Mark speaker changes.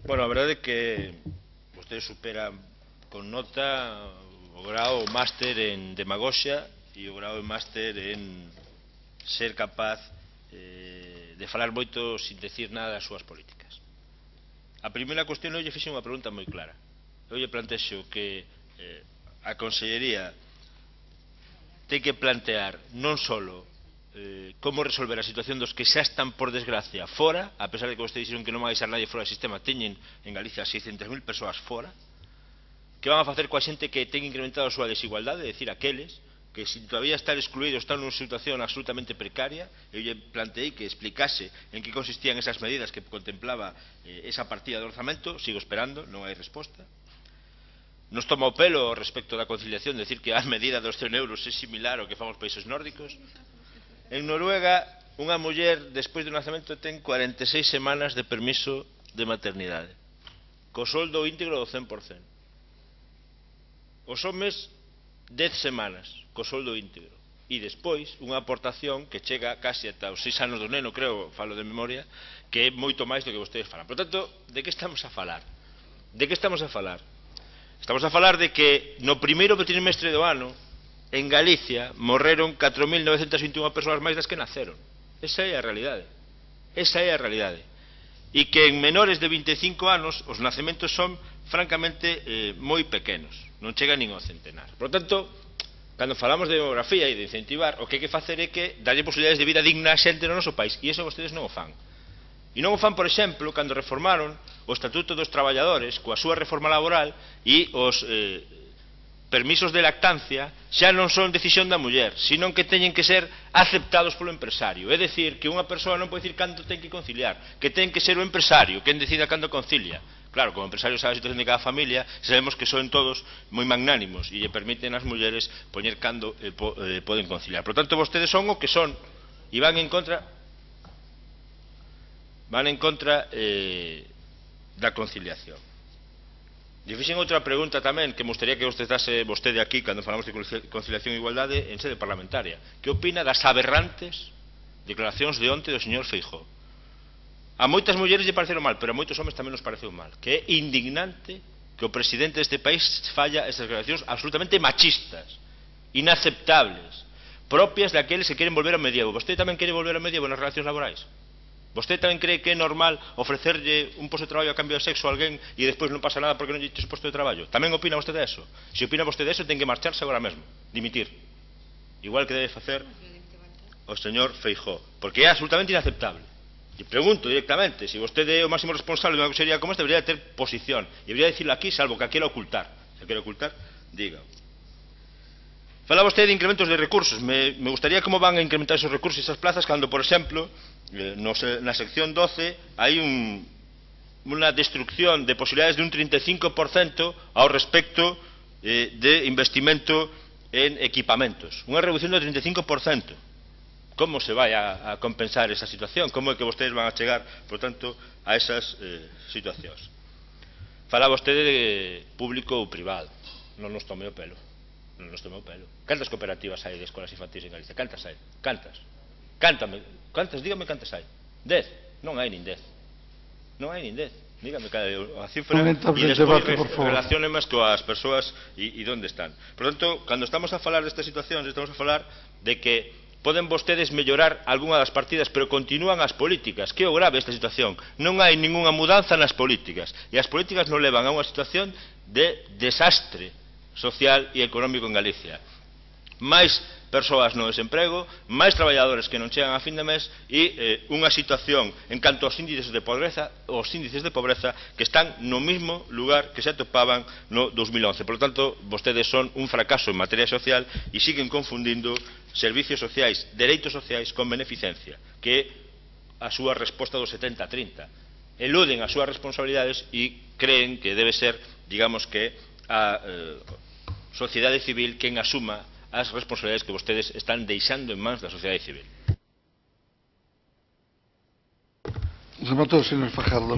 Speaker 1: Bueno, a verdade é que vostede supera con nota o grao máster en demagoxia e o grao máster en ser capaz de falar moito sin decir nada das súas políticas. A primeira cuestión, eu lle fixe unha pregunta moi clara. Eu lle plantexo que a Consellería ten que plantear non só como resolver a situación dos que xa están, por desgracia, fora, a pesar de que vostedes dixeron que non vai deixar nadie fora do sistema, teñen en Galicia 600.000 persoas fora. Que van a facer coa xente que ten incrementado a súa desigualdade, é dicir, aqueles que sin todavía estar excluídos están nunha situación absolutamente precaria. Eu lle planteei que explicase en que consistían esas medidas que contemplaba esa partida de orzamento. Sigo esperando, non hai resposta. Nos toma o pelo respecto da conciliación, decir que a medida dos 100 euros é similar ao que fan os países nórdicos. En Noruega, unha muller despois do nacemento ten 46 semanas de permiso de maternidade, co soldo íntegro do 100%. Os homes 10 semanas, co soldo íntegro. E despois, unha aportación que chega casi ata os 6 anos do neno, creo, falo de memoria, que é moito máis do que vostedes falan. Por tanto, de que estamos a falar? De que estamos a falar? Estamos a falar de que no primeiro trimestre do ano, en Galicia, morreron 4.921 persoas máis das que naceron. Esa é a realidade. Esa é a realidade. E que en menores de 25 anos os nacementos son francamente moi pequenos. Non chegan nin ao centenar. Por tanto, cando falamos de demografía e de incentivar, o que hai que facer é que darlle posibilidades de vida digna a xente no noso país. E iso vostedes non o fan. E non o fan, por exemplo, cando reformaron o Estatuto dos Traballadores coa súa reforma laboral e os permisos de lactancia xa non son decisión da muller, senón que teñen que ser aceptados polo empresario. É dicir, que unha persoa non pode dicir canto ten que conciliar, que ten que ser o empresario quen decida cando concilia. Claro, como empresario sabe a situación de cada familia, sabemos que son todos moi magnánimos e lle permiten ás mulleres poñer cando poden conciliar. Por tanto, vostedes son o que son e van en contra da conciliación. E fixen outra pregunta tamén que me gustaría que contestase vostede aquí cando falamos de conciliación e igualdade en sede parlamentaria. Que opina das aberrantes declaracións de onte do señor Feijóo? A moitas mulleres lle pareceron mal, pero a moitos homes tamén nos pareceu mal. Que é indignante que o presidente deste país falla esas declaracións absolutamente machistas, inaceptables, propias daqueles que queren volver ao medievo. Vostede tamén quere volver ao medievo nas relacións laborais? Vostede tamén cree que é normal ofrecerlle un posto de traballo a cambio de sexo a alguén e despois non pasa nada porque non lle ches posto de traballo? Tamén opina vostede eso? Se opina vostede eso, ten que marcharse agora mesmo, dimitir. Igual que debe facer o señor Feijóo, porque é absolutamente inaceptable. E pregunto directamente, se vostede é o máximo responsable de unha consellería como esta, debería ter posición, e debería dicirlo aquí, salvo que a quera ocultar. Se a quera ocultar, diga. Fala vostede de incrementos de recursos. Me gustaría como van a incrementar esos recursos e esas plazas cando, por exemplo, na sección 12 hai unha destrucción de posibilidades de un 35% ao respecto de investimento en equipamentos. Unha reducción do 35%. Como se vai a compensar esa situación? Como é que vostedes van a chegar, por tanto, a esas situacións? Fala vostede de público ou privado. Non nos tome o pelo. Non nos tome o pelo. Cantas cooperativas hai de escolas infantis en Galicia? Cantas hai? Cantas? Cántame. Cantas? Dígame cantas hai. 10? Non hai nin 10. Non hai nin 10. Dígame a cifra e despois relacione máis coas persoas e onde están. Por tanto, cando estamos a falar destas situacións, estamos a falar de que poden vostedes mellorar algunha das partidas, pero continúan as políticas. Que é o grave esta situación? Non hai ningunha mudanza nas políticas. E as políticas non levan a unha situación de desastre social e económico en Galicia. Máis persoas no desemprego, máis traballadores que non chegan a fin de mes e unha situación en canto aos índices de pobreza que están no mesmo lugar que se atopaban no 2011. Por lo tanto, vostedes son un fracaso en materia social e siguen confundindo servicios sociais, dereitos sociais con beneficencia, que é a súa resposta do 70-30. Eluden as súas responsabilidades e creen que debe ser, digamos que, a sociedade civil quen asuma as responsabilidades que vostedes están deixando en mans da sociedade civil.
Speaker 2: Rematou, señor Fajardo.